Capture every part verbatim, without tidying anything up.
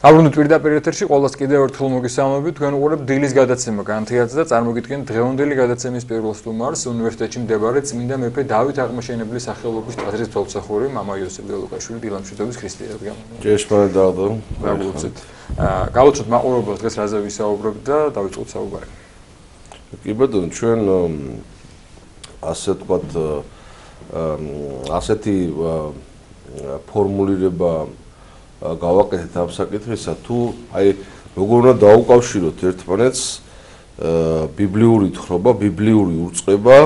Ალბათ პირდაპირ ეთერში ყოველს კიდევ ერთხელ მოგესალმებით. თქვენ უყურებთ დილის გადაცემა განთიაძე და წარმოგიდგენთ დღევანდელი გადაცემის პირველ სტუმარს უნივერსიტეტში მდებარე წმინდა მეფე დავით აღმაშენებლის სახელობის ტაძრის თვალსაჩინო მამა იოსებ ლელუკაშვილი დილამშვიდობის ქრისტიანად. ჭეშმარიტ დავდო. გაგულწით. აა გავუწოთ მაყურებელს დღეს რაზე ვისაუბრებთ და დავიწყოთ საუბარი. კი ბატონო, ჩვენ ასე ვთქვათ ასეთი ფორმულირება გავაკეთეთ ამ საკითხისა, თუ აი როგორ უნდა დაუკავშიროთ ერთმანეთს ბიბლიური თხრობა, ბიბლიური ურწყება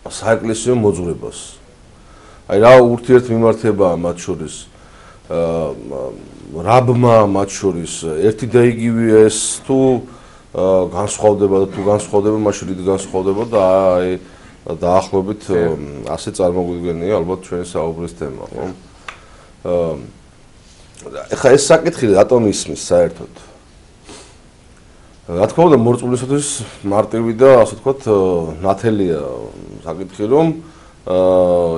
საეკლესიო მოძღვრებას. აი რა ურთიერთმიმართებაა მათ შორის რაბმა მათ შორის ერთი და იგივე ეს თუ განსხვავდება და თუ განსხვავდება, მაშინ რით განსხვავდება და აი დაახლოებით ასე წარმოგვიდგენია ალბათ ჩვენი საუბრის თემა, ხო? ეხლა ეს საკითხი რატომ ისმის საერთოდ? რა თქმა უნდა, მორწმუნეებისთვის მარტივი და ასე ვთქვათ, ნათელია საკითხი, რომ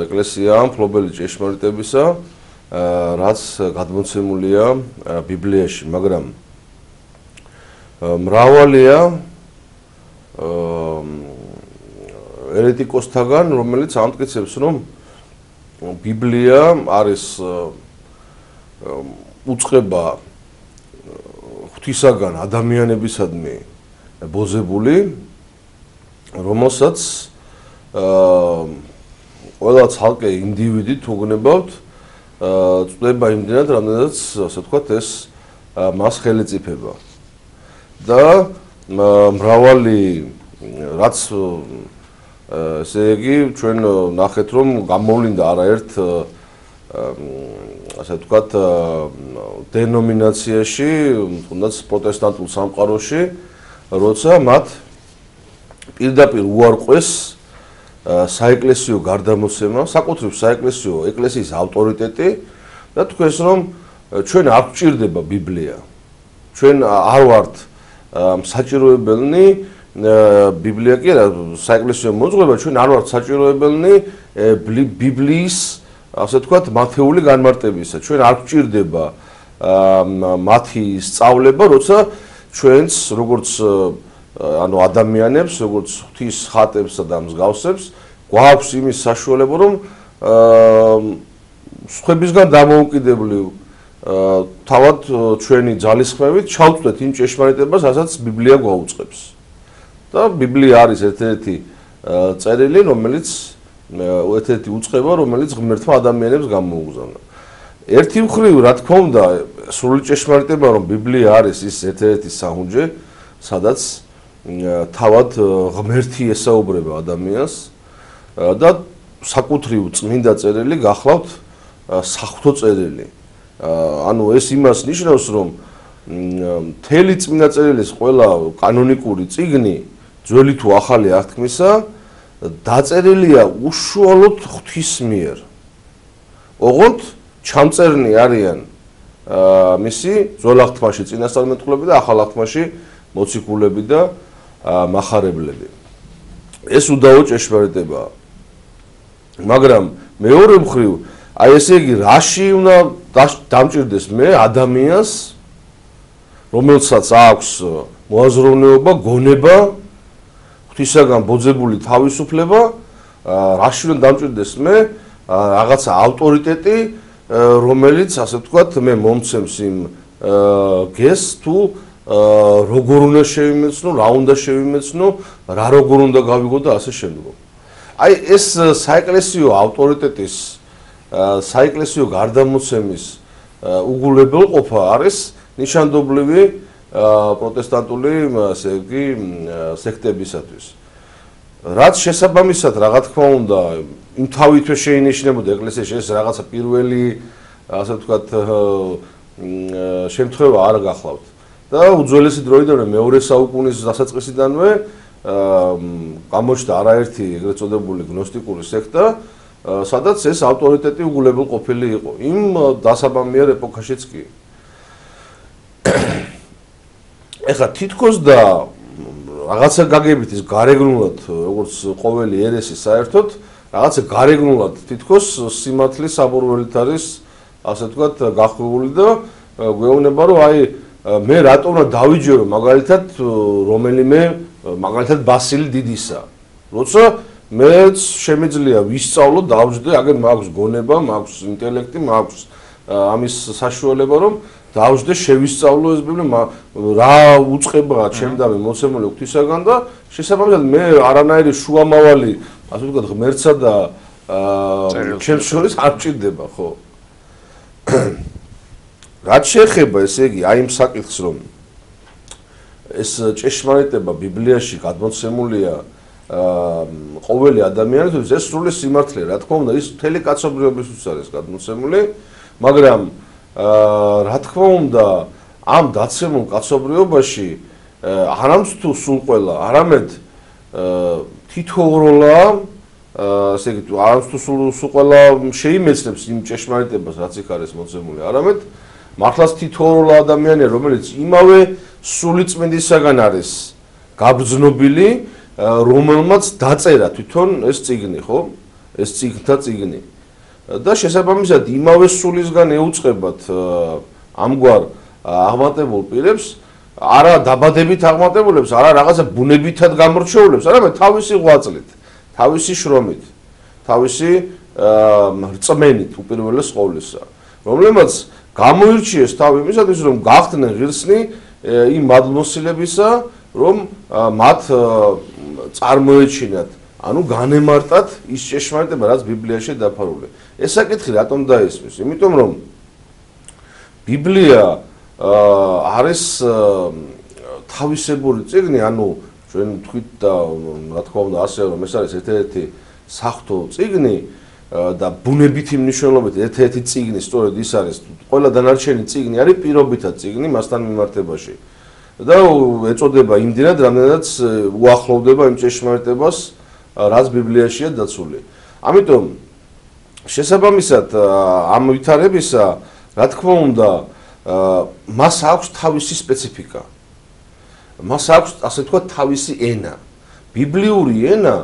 ეკლესია მფლობელი ჭეშმარიტებისა, რაც გადმოცემულია ბიბლიაში, მაგრამ მრავალია ერეტიკოსთაგან, რომელიც ამტკიცებს, რომ ბიბლია არის უწყება ღვთისაგან ადამიანებისადმი ბოზებული, რომელსაც ყველა ცალკე ინდივიდი თუ გნებავთ წვდება იმდენად, რამდენადაც ასე ვთქვათ, ეს მას ხელეწიფება. და მრავალი რაც ესე იგი ჩვენ ნახეთ, რომ გამოვლინდა არაერთ ასე ვთქვათ დენომინაციაში, თუნდაც პროტესტანტულ სამყაროში, როცა მათ პირდაპირ უარყვეს საეკლესიო გარდამოსება, საკუთრივ საეკლესიო ეკლესიის ავტორიტეტი და თქვენს, რომ ჩვენ არ გვჭირდება ბიბლია. ჩვენ არ ვართ საჭიროებელნი ბიბლია კი არა, საეკლესიო მოძღვრება, ჩვენ არ ვართ საჭიროებელნი ბიბლიის, ასე ვთქვათ, მათეული განმარტებისა. ჩვენ არ გვჭირდება მათი სწავლება, როცა ჩვენს როგორც ანუ ადამიანებს, როგორც ღვთის ხატებსა და მსგავსებს, გვაქვს იმის საშუალება, რომ სხვებისგან დამოუკიდებლი თავად ჩვენი ძალისხმევით ჩავწვდეთ იმ ჭეშმარიტებას, რასაც ბიბლია გვაუწყებს. და ბიბლია არის ერთ-ერთი წერილი, რომელიც ერთ-ერთი უწყება, რომელიც ღმერთმა ადამიანებს გამოუგზავნა. ერთი მხრივ, რა თქმა უნდა, სრული ჭეშმარიტება, რომ ბიბლია არის ის ერთ-ერთი საუნჯე, სადაც თავად ღმერთი ესაუბრება ადამიანს და საკუთრივ წმინდა წერილი გახლავთ საღვთო წერილი. ანუ ეს იმას ნიშნავს, რომ მთელი წმინდა წერილის ყველა კანონიკური წიგნი, ძველი თუ ახალი აღთქმისა, დაწერილია უშუალოდ ღვთის მიერ. ოღონდ ჩამწერნი არიან მისი ძველ აღთქმაში წინასწარმეტყველები და ახალ აღთქმაში მოციქულები და მახარებლები. ეს უდავო ჭეშმარიტებაა. მაგრამ მეორე მხრივ, აი ესე იგი, რაში უნდა დამჭირდეს მე ადამიანს, რომელსაც აქვს მოაზროვნეობა, გონება, ღვთისაგან ბოძებული თავისუფლება, რაში უნდა დამჭირდეს მე რაღაცა ავტორიტეტი, რომელიც, ასე ვთქვათ, მე მომცემს იმ გეს თუ როგორ უნდა შევიმეცნო, რა უნდა შევიმეცნო, რა როგორ უნდა გავიგო და ასე შემდგომ. აი ეს საეკლესიო ავტორიტეტის, საეკლესიო გარდამოცემის უგულებელყოფა არის ნიშანდობლივი პროტესტანტული, ასე იგი, სექტებისათვის. რაც შესაბამისად, რა თქმა უნდა, იმ თავითვე შეინიშნებოდა ეკლესიაში ეს რაღაცა პირველი, ასე ვთქვათ, შემთხვევა არ გახლავთ. და უძველესი დროიდანვე მეორე საუკუნის დასაწყისიდანვე გამოჩნდა არაერთი ეგრეთ წოდებული გნოსტიკური სექტა, სადაც ეს ავტორიტეტი უგულებელყოფილი იყო. იმ დასაბამიერ ეპოქაშიც კი. ეხლა თითქოს და რაღაცა გაგებით ის გარეგნულად, როგორც ყოველი ერესი საერთოდ, რაღაცა გარეგნულად თითქოს სიმართლის საბურველით არის, ასე ვთქვათ, გახვეული და გვეუბნება რომ აი მე რატომ რა დავიჯერო მაგალითად რომელიმე მაგალითად ბასილი დიდისა როცა მეც შემიძლია ვისწავლო დავჯდე აგერ მაქვს გონება მაქვს ინტელექტი მაქვს ამის საშუალება რომ დავჯდე შევისწავლო ეს ბიბლია რა უწყებაა ჩემდამი მოცემული ღვთისაგან და შესაბამისად მე არანაირი შუამავალი ასე ვთქვათ ღმერთსა და ჩემს შორის არ მჭირდება ხო რაც შეეხება ესე იგი აი იმ საკითხს რომ ეს ჭეშმარიტება ბიბლიაში გადმოცემულია ყოველი ადამიანისთვის ეს სრული სიმართლეა რა თქმა უნდა ის მთელი კაცობრიობისთვის არის გადმოცემული მაგრამ რა თქმა უნდა ამ დაცემულ კაცობრიობაში არამც თუ სულ ყველა არამედ თითოეულა ასე იგი არამც თუ სულ ყველა შეიმეცნებს იმ ჭეშმარიტებას რაც იქ არის მოცემული არამედ მართლაც თითოეულა ადამიანია რომელიც იმავე სულიწმინდისაგან არის გაბრძნობილი რომელმაც დაწერა თვითონ ეს წიგნი ხო ეს წიგნთა წიგნი და შესაბამისად იმავე სულისგან ეუწყებათ ამგვარ აღმატებულ პირებს არა დაბადებით აღმატებულებს არა რაღაცა ბუნებითად გამორჩეულებს არამედ თავისი ღვაწლით თავისი შრომით თავისი რწმენით უპირველეს ყოვლისა რომლებმაც გამოირჩიეს თავი იმისათვის რომ გახდნენ ღირსნი იმ მადლმოსილებისა რომ მათ წარმოეჩინათ ანუ განემარტათ ის ჭეშმარიტება რაც ბიბლიაში დაფარულია ეს საკითხი რატომ დაისმის იმიტომ რომ ბიბლია არის თავისებური წიგნი ანუ ჩვენ თქვით და რა თქმა უნდა ასე რომ ეს არის ერთ-ერთი საღვთო წიგნი და ბუნებითი მნიშვნელობით ერთ-ერთი წიგნი სწორედ ის არის ყველა დანარჩენი წიგნი არის პირობითად წიგნი მასთან მიმართებაში და ეწოდება იმდენად რამდენადაც უახლოვდება იმ ჭეშმარიტებას რაც ბიბლიაშია დაცული ამიტომ შესაბამისად ამ ვითარებისა რა თქმა უნდა მას აქვს თავისი სპეციფიკა მას აქვს ასე ვთქვათ თავისი ენა ბიბლიური ენა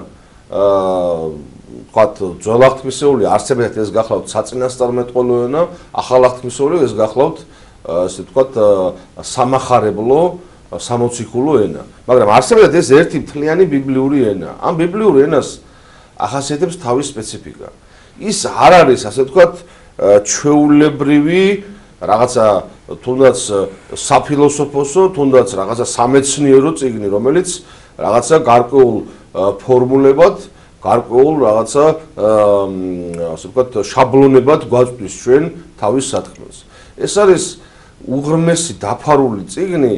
ვთქვათ ძველ აღთქმისეული არსებითად ეს გახლავთ საწინასწარმეტყველო ენა ახალ აღთქმისეული ეს გახლავთ ასე ვთქვათ სამახარებლო სამოციქულო ენა მაგრამ არსებითად ეს ერთი მთლიანი ბიბლიური ენა ამ ბიბლიურ ენას ახასიათებს თავის სპეციფიკა ის არ არის ასე ვთქვათ ჩვეულებრივი რაღაცა თუნდაც საფილოსოფოსო თუნდაც რაღაცა სამეცნიერო წიგნი რომელიც რაღაცა გარკვეულ ფორმულებად გარკვეულ რაღაცა ასე ვთქვათ შაბლონებად გვაწვდის ჩვენ თავის სათქმელს ეს არის უღრმესი დაფარული წიგნი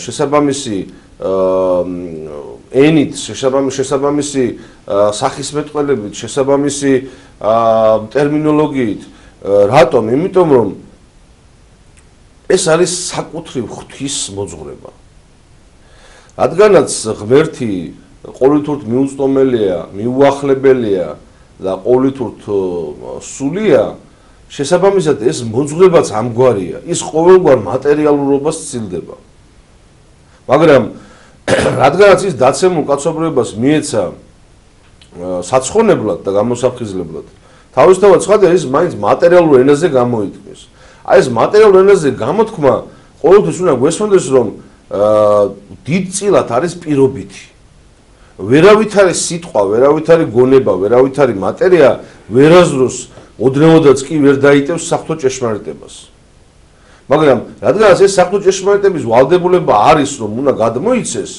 შესაბამისი ენით შესაბამისი სახისმეტყველებით შესაბამისი ტერმინოლოგიით რატომ იმიტომ რომ ეს არის საკუთრივ ღვთის მოძღვრება რადგანაც ღმერთი ყოვლითურთ მიუწვდომელია მიუახლებელია და ყოვლითურთ სულია შესაბამისად ეს მოძღვრებაც ამგვარია ის ყოველგვარ მატერიალურობას ცდილდება მაგრამ რადგანაც ის დაცემულ კაცობრიობას მიეცა საცხონებლად და გამოსაფხიზლებლად თავისთავად ცხადია ის მაინც მატერიალურ ენაზე გამოითქმის აი ეს მატერიალურ ენაზე გამოთქმა ყოველთვის უნდა გვესმოდეს რომ დიდწილად არის პირობითი ვერავითარი სიტყვა ვერავითარი გონება ვერავითარი მატერია ვერაზროს ოდნავადაც კი ვერ დაიტევს საღვთო ჭეშმარიტებას მაგრამ რადგანაც ეს საღვთო ჭეშმარიტების ვალდებულება არის რომ უნდა გადმოიცეს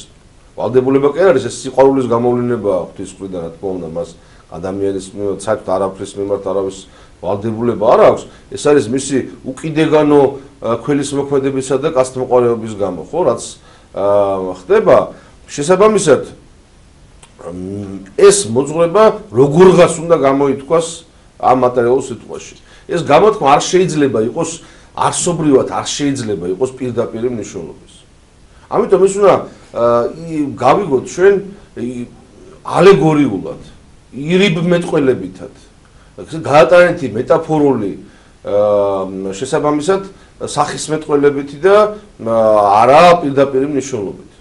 ვალდებულება კი არის ეს სიყვარულის გამოვლენა ღვთის მხრიდან რა თქმა უნდა მას ადამიანის საერთოდ არაფრის მიმართ არავის ვალდებულება არ აქვს ეს არის მისი უკიდეგანო ქველის მოქმედებისა და კაცთმოყვარეობის გამო ხო რაც ხდება შესაბამისად ეს მოძღვრება როგორღაც უნდა გამოითქვას ამ მატერიალურ სიტყვაში ეს გამოთქმა არ შეიძლება იყოს არსობრივად არ შეიძლება იყოს პირდაპირ მნიშვნელობის ამიტომ ეს უნდა გავიგოთ ჩვენ ალეგორიულად ირიბ მეტყველებითად გაატარეთი მეტაფორული შესაბამისად სახისმეტყველებითი და არა პირდაპირ მნიშვნელობით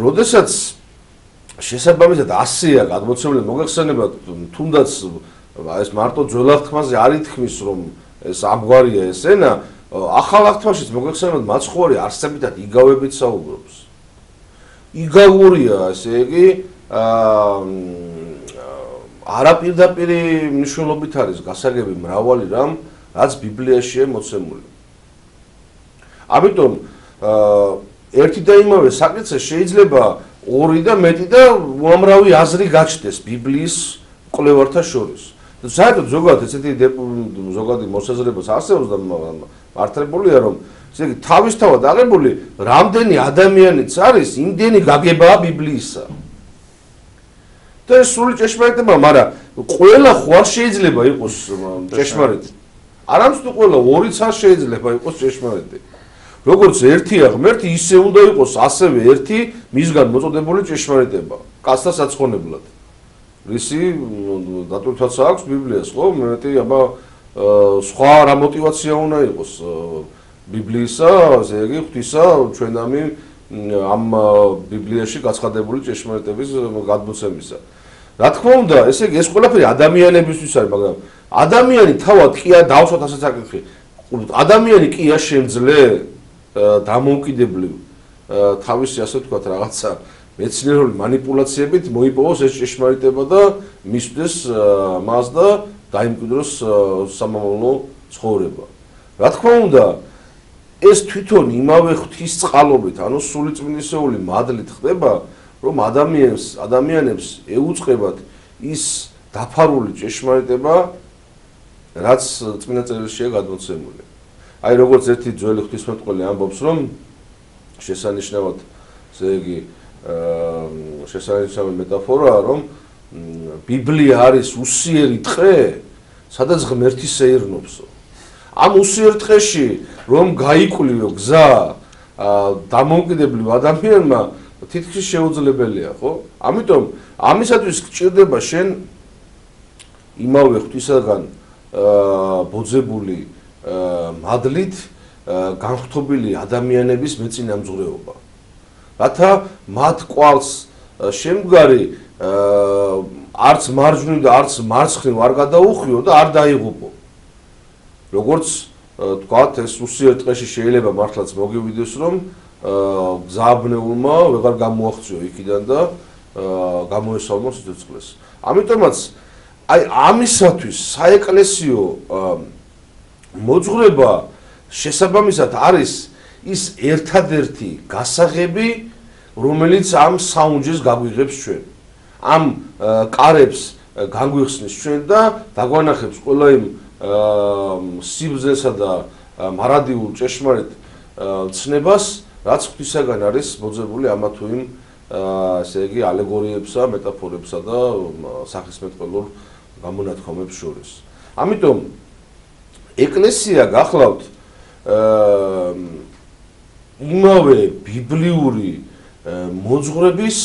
როდესაც შესაბამისად ასეა გადმოცემული მოგეხსენებათ თუნდაც ეს მარტო ძველად თქმაზე არ ითქმის რომ ეს ამგვარია ეს ენა, ახალ აღთქმაშიც მოგეხსენებათ მაცხოვარი არსებითად იგავებით საუბრობს. იგავურია, ესე იგი, არაპირდაპირი მნიშვნელობით არის გასაგები მრავალი რამ, რაც ბიბლიაშია მოცემული. ამიტომ ერთი და იმავე საკითხზე შეიძლება ორი და მეტი და უამრავი აზრი გაჩნდეს ბიბლიის მკვლევართა შორის. საერთოდ ზოგადად ესეთი ზოგადი მოსაზრებაც არსებობს და მართლებულია რომ ესე იგი თავისთავად აღებული რამდენი ადამიანიც არის, იმდენი გაგებაა ბიბლიისა. და ეს სრული ჭეშმარიტება, მაგრამ ყველა ხო არ შეიძლება იყოს ჭეშმარიტი. არამც თუ ყველა ორიც არ შეიძლება იყოს ჭეშმარიტი. როგორც ერთია ღმერთი, ისე უნდა იყოს ასევე ერთი მისგან მოწოდებული ჭეშმარიტება, კაცთა საცხონებლად. რისი დატვირთვაც აქვს ბიბლიას, ხო? მეტი აბა სხვა რა мотиваცია უნდა იყოს ბიბლიისა, ესე იგი ღვთისა ჩვენ ამი ამ ბიბლიაში გაცხადებული ჭეშმარიტების გადმოცემისა. რა თქმა უნდა, ესე იგი ეს ყველაფერი ადამიანებისთვის არის, მაგრამ ადამიანი თავად კი არ დავსვათ ასეთ საკითხი. ადამიანი კი არ შემძლე დამოუკიდებლივ თავისი ასე ვთქვათ რაღაცა მეცნიერული манипуляციებით მოიპოვოს ეს ჭეშმარიტება და მისვდეს მას და დაიმკვიდროს სამომავლო ცხოვრება. რა თქმა უნდა, ეს თვითონ იმავე ღვთის წყალობით, ანუ სულიწმინდისეული მადლით ხდება, რომ ადამიანს, ადამიანებს ეუწყებათ ის დაფარული ჭეშმარიტება, რაც წმინდა წერილშია გადმოცემული. აი როგორც ერთი ძველი ღვთისმეტყველი ამბობს, რომ შესანიშნავად, ესე იგი, შესანიშნავი მეტაფორაა, რომ ბიბლია არის უსიერი ტყე, სადაც ღმერთი სეირნობსო. ამ უსიერ ტყეში რომ გაიკვლიო გზა დამოუკიდებლივ ადამიანმა თითქმის შეუძლებელია, ხო? ამიტომ ამისათვის გჭირდება შენ იმავე ღვთისაგან ბოძებული მადლით განხთობილი ადამიანების მეწინამძღვრეობა. რათა მათ კვალს შემდგარი არც მარჯვნივ და არც მარცხნივ არ გადაუხვიო და არ დაიღუპო. როგორც თქვათ, ეს უსიერ ტყეში შეიძლება მართლაც მოგივიდეს, რომ გზააბნეულმა ვეღარ გამოაღწიო იქიდან და გამოესალმო სიცოცხლეს. ამიტომაც აი ამისათვის საეკლესიო მოძღვრება შესაბამისად არის ის ერთადერთი გასაღები, რომელიც ამ საუნჯეს გაგვიღებს ჩვენ. ამ კარებს განგვიხსნის ჩვენ და დაგვანახებს ყველა იმ სიბრძნესა და მარადიულ ჭეშმარიტ ცნებას, რაც ღვთისაგან არის მოძებული ამა თუ იმ ესე იგი ალეგორიებსა, მეტაფორებსა და სახისმეტყველურ გამონათქვამებს შორის. ამიტომ ეკლესია გახლავთ იმავე ბიბლიური მოძღვრების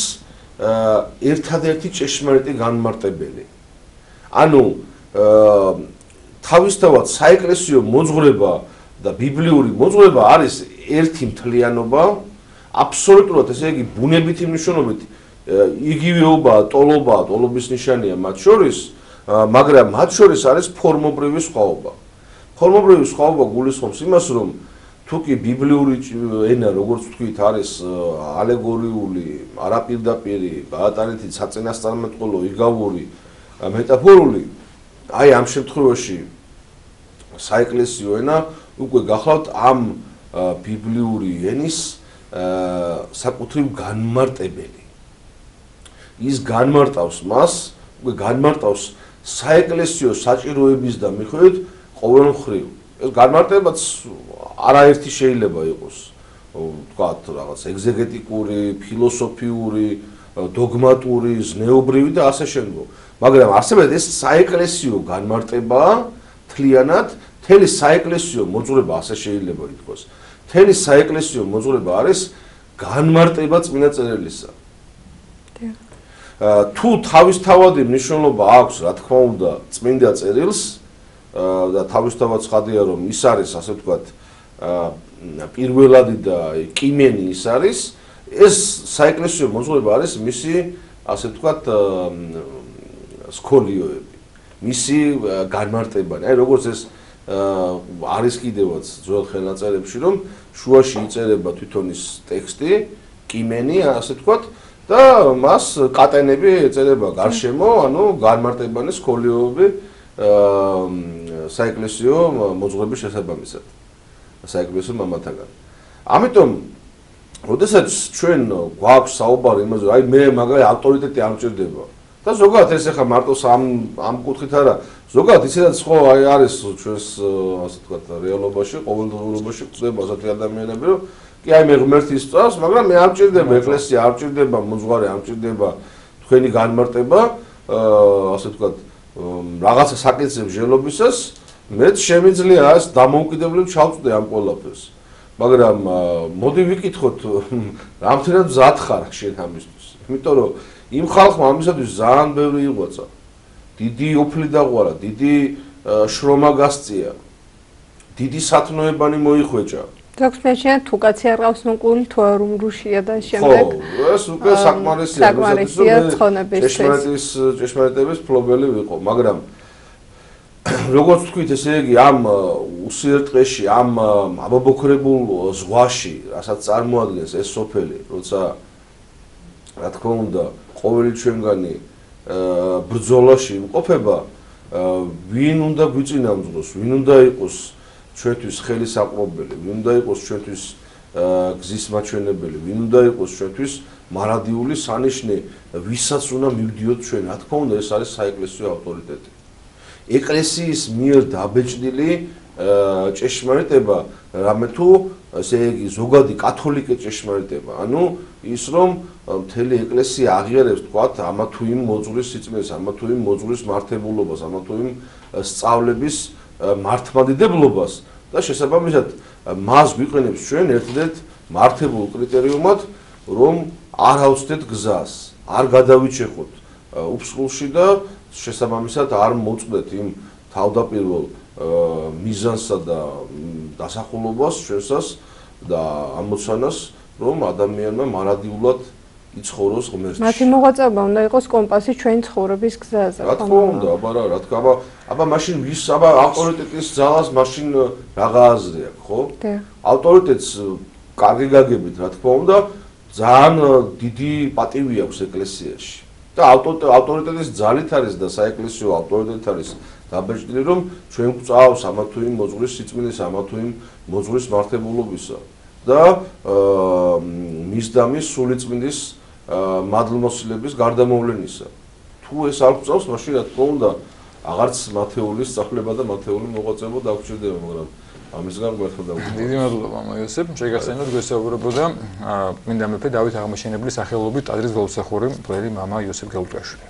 ერთადერთი ჭეშმარიტი განმარტებელი. ანუ თავისთავად საეკლესიო მოძღვრება და ბიბლიური მოძღვრება არის ერთი მთლიანობა, აბსოლუტურად, ესე იგი, ბუნებითი მნიშვნელობით იგივეობაა, ტოლობაა, ტოლობის ნიშანია მათ შორის, მაგრამ მათ შორის არის ფორმობრივი სხვაობა. ფორმობრივი სხვაობა გულისხმობს იმას, რომ თუკი ბიბლიური ენა, როგორც ვთქვით, არის ალეგორიული, არაპირდაპირი, გაატარითი საწინასწარმეტყველო, იგავური, მეტაფორული, აი ამ შემთხვევაში საეკლესიო ენა უკვე გახლავთ ამ ბიბლიური ენის საკუთრივ განმარტებელი. ის განმარტავს მას, უკვე განმარტავს საეკლესიო საჭიროების და მიხედვით ყოველ მხრივ. ეს განმარტებაც არაერთი შეიძლება იყოს, ვთქვათ, რაღაც ეგზეგეტიკური, ფილოსოფიური, დოგმატური, ზნეობრივი და ასე შემდგომ. მაგრამ არსებობს ეს საეკლესიო განმარტებაა თლიანად, მთელი საეკლესიო მოძღვრება ასე შეიძლება ითქვას. მთელი საეკლესიო მოძღვრება არის განმარტება წმინდა წერილისა. თუ თავისთავადი მნიშვნელობა აქვს, რა თქმა უნდა, წმინდა წერილს და თავისთავად ცხადია, რომ ის არის, ასე ვთქვათ, პირველადი და კიმენი ის არის, ეს საეკლესიო მოძღვრება არის მისი, ასე ვთქვათ, სქოლიოები. მისი განმარტებანი. აი როგორც ეს არის კიდევაც ძველ ხელნაწერებში, რომ შუაში იწერება თვითონ ის ტექსტი, კიმენი, ასე ვთქვათ, და მას კატენები ეწერება გარშემო, ანუ განმარტებანი სქოლიოები საეკლესიო მოძღვრების შესაბამისად. საეკლესიო მამათაგან. ამიტომ როდესაც ჩვენ გვაქვს საუბარი იმაზე, აი მე მაგარი ავტორიტეტი არ მჭირდება. და ზოგადად ეს ახლა მარტო ამ ამ კუთხით არა, ზოგადად ისედაც ხო აი არის ჩვენს ასე ვთქვათ რეალობაში, ყოველდღიურობაში ხდება ასეთი ადამიანები, რომ კი აი მე ღმერთი სწავს, მაგრამ მე არ მჭირდება ეკლესია, არ მჭირდება მოძღვარი, არ მჭირდება თქვენი განმარტება, ასე ვთქვათ რაღაცა საკითხებს ჟელობისას, მეც შემიძლია ეს დამოუკიდებლად ჩავწვდე ამ ყველაფერს. მაგრამ მოდი ვიკითხოთ, რამდენად მზად ხარ შენ ამისთვის? იმიტომ რომ იმ ხალხმა ამისათვის ძალიან ბევრი იღვაცა. დიდი ოფლი დაღვარა, დიდი შრომა გასწია. დიდი სათნოებანი მოიხვეჭა. დოქტორია თუ კაცი არ ყავს ნუკული თუ არ უმრუშია და შემდეგ. ხო, ეს უკვე საკმარისია, საკმარისია ცხონებისთვის. ჭეშმარიტის ჭეშმარიტების ფლობელი ვიყო, მაგრამ როგორც ვთქვით, ესე იგი ამ უსიერთყეში, ამ ამობოქრებულ ზღვაში, რასაც წარმოადგენს ეს სოფელი, როცა რა თქმა უნდა, ყოველი ჩვენგანი ბრძოლაში იმყოფება, ვინ უნდა გვიწინამძღოს, ვინ უნდა იყოს ჩვენთვის ხელისაყრობელი, ვინ უნდა იყოს ჩვენთვის გზის მაჩვენებელი, ვინ უნდა იყოს ჩვენთვის მარადიული სანიშნე, ვისაც უნდა მივდიოთ ჩვენ, რა თქმა უნდა, ეს არის საეკლესიო ავტორიტეტი. ეკლესიის მიერ დაბეჭდილი ჭეშმარიტება, რამე თუ ესე იგი ზოგადი კათოლიკე ჭეშმარიტება, ანუ ის რომ მთელი ეკლესია აღიარებს თქვათ ამა თუ იმ მოძღვრის სიწმინდეს, ამა თუ იმ მოძღვრის მართებულობას, ამა თუ იმ სწავლების მართლმადიდებლობას და შესაბამისად მას გვიყენებს ჩვენ ერთ-ერთ მართებულ კრიტერიუმად, რომ არ ავწდეთ გზას, არ გადავიჩეხოთ უფსხულში და შესაბამისად არ მოწყვდეთ იმ თავდაპირველ მიზანსა და დასახულობას ჩვენსას და ამოცანას, რომ ადამიანმა მარადიულად იცხოვროს ღმერთში. მათი მოღვაწეობა უნდა იყოს კომპასი ჩვენი ცხოვრების გზაზე. რა თქმა უნდა, აბა რა, რა თქმა, აბა, აბა მაშინ ვის, აბა ავტორიტეტის ძალას მაშინ რაღა აზრი აქვს, ხო? ავტორიტეტს კარგი გაგებით, რა თქმა უნდა, ძალიან დიდი პატივი აქვს ეკლესიაში. და ავტორიტეტის ძალით არის და საეკლესიო ავტორიტეტით არის დაბეჭდილი, რომ ჩვენ გვწავს ამა თუ იმ მოძღვრის სიწმინდეს, ამა თუ იმ მოძღვრის მართებულობისა და მისდამის სულიწმინდის მადლმოსილების გარდამოვლენისა. თუ ეს არ გვწავს, მაშინ რა თქმა უნდა, აღარც მათეულის სწავლება და მათეული მოღვაწეობა დაგვრჩება, მაგრამ ამისგან გვერდ დავუშვი. დიდი მადლობა მოიოსებ, შეგახსენოთ გვესაუბრებოდა წმინდა მეფე დავით აღმაშენებლის სახელობით ტაძრის გლოვსახური მღვდელი მამა იოსებ გელუტაშვილი.